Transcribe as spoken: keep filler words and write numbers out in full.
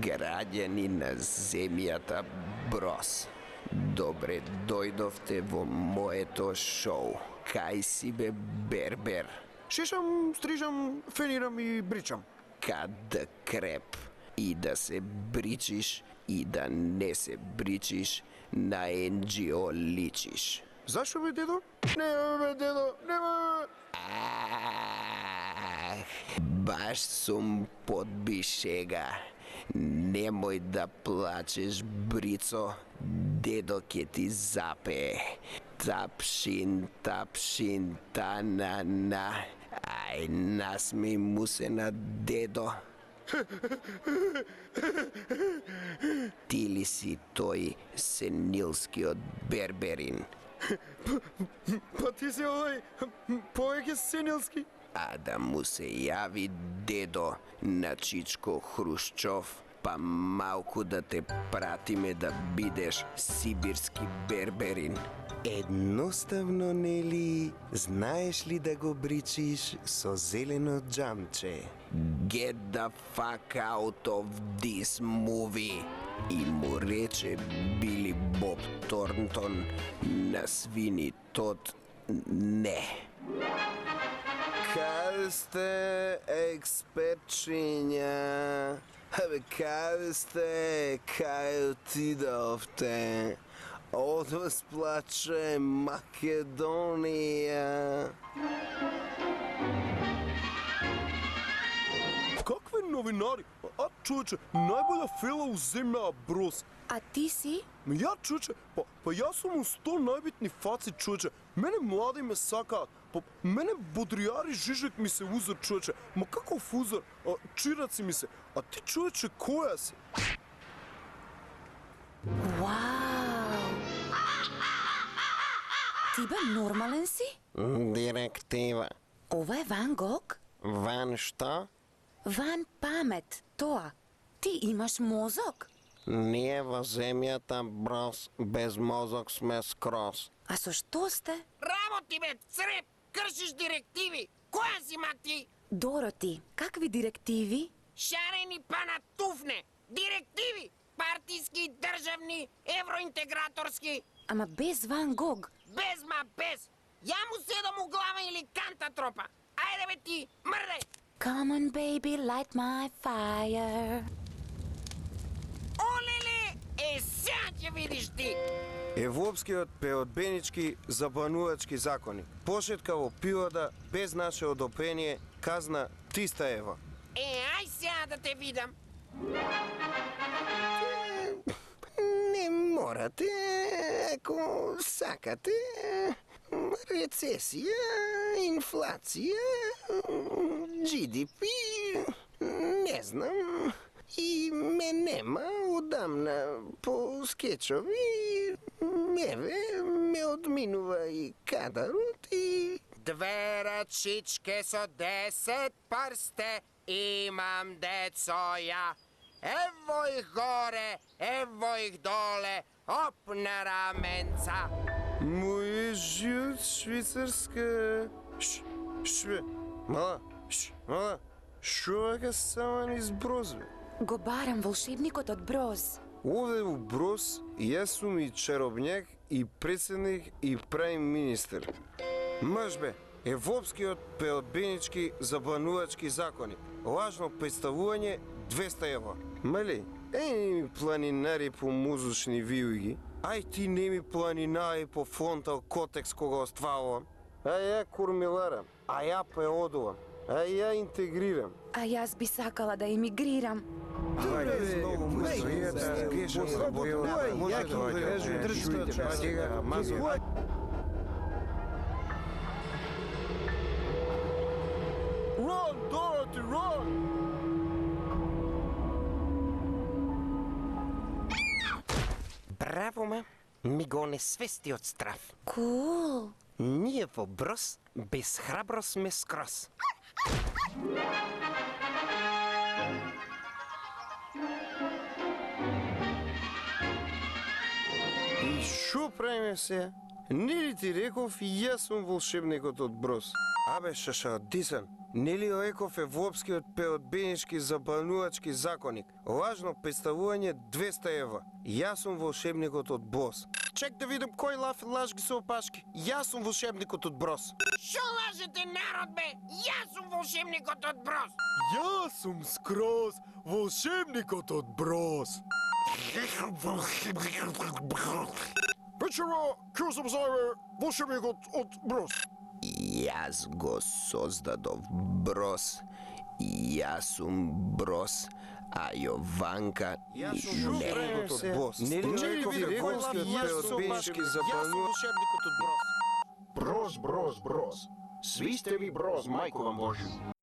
Граѓани на земјата Броз, добре дојдовте во моето шоу. Кај си бе, Бербер? Шишам, стрижам, фенирам и бричам. Кад да креп и да се бричиш и да не се бричиш, на Ен Џи О личиш. Зашо бе, дедо? Нема бе, дедо, нема. Ах, баш сум подбишега. Немој да плачеш, Брицо, дедо ке ти запее. Тапшин, тапшин, та-на-на. Ај, насмеј му се на дедо. Ти ли си тој сенилскиот Берберин? Па ти си овој повеќе сенилски. А да му се јави дедо на Чичко Хрушчов, па малку да те пратиме да бидеш сибирски Берберин. Едноставно, нели, знаеш ли да го бричиш со зелено џамче? Get the fuck out of this movie! И му рече Били Боб Торнтон на свини Тод не. Каде сте, експертчиња? Абе, каде сте, кај отидовте? Од вас плаче Македонија. Какви новинари? А, човече, најбоља фела у земја Броз. А ти си? Ја, човече, па, па јас сум у сто најбитни фаци, човече. Мене млади ме сакаат. Па, мене бодријари Жижек ми се узор, човече. Ма каков узор? А, чираци ми се. А ти, човече, која си? Вау! Ти бе нормален си? Директива. Ова е Ван Гог? Ван што? Ван памет, тоа. Ти имаш мозок? Ние во земјата Броз без мозок сме скроз. А со што сте? Работи бе, цреп! Кршиш директиви! Која си ма ти? Дороти, какви директиви? Шарени па на туфне! Директиви! Партиски, државни, евроинтеграторски! Ама без Ван Гог. Без ма без! Ја му седам у глава или канта тропа! Ајде бе ти, мрде! Come on baby, light my fire. Олеле! Е, сега ќе видиш ти! Европскиот пеодбенички забанувачки закони. Пошетка во пивода без наше одобрение, казна триста евра. Е, ај сега да те видам! Не морате, ако сакате. Рецесија, инфлација, Джи Ди Пи, не знам. И ме нема одамна по скечови. Еве, ме одминува и кадарот и... Две рачичке со десет прсте имам децо ја. Ево их горе, ево их доле, оп на раменца. Мој живот швейцарска. Ш, шве, мала, ш, мала, шо вака само низ Броз, бе? Го барам волшебникот од Броз. Овде у Броз јас сум и чаробњак, и председник, и праим министер. Маж бе, европскиот пеодбенички забанувачки закони. Лажно представување двеста евра. Мали, еј ми планинари по музучни виуги. Ај ти не ми планинари по фронтал котекс кога остварувам. А ја кормиларам, а ја преодувам, а ја интегрирам. А јас би сакала да емигрирам. Ајде, многу мустојата, гешам работа, може да кажу, држите, сега, мази. Run, Dorothy, run! Браво, ма! Ми го несвести од страв. Кул. Ние во Броз без храбро сме скроз. И шо правиме се? Нели ти реков јас сум волшебникот од Броз? Абе, шаша, дисан. Нели Оеков е воопскиот пеодбенички забанувачки законик? Лажно представување двеста евра. Јас сум волшебникот од Бос. Чек да видим кој лав лаж ги се опашки. Јас сум волшебникот од Броз. Шо лажете, народ, бе? Јас сум волшебникот од Броз. Јас сум скроз волшебникот од Броз. Печева, ке сум зајбе волшебникот од Броз. Јас го создадов Броз. Јас сум Броз, а Јованка Јас сум не. волшебникот од Бос. Нели Нели Оеков ви е реков воопскиот јас сум пеодбенички Јас сум забанувачки волшебникот од Броз. Броз, броз, броз. Svi ste vi broz, majko vam Božju.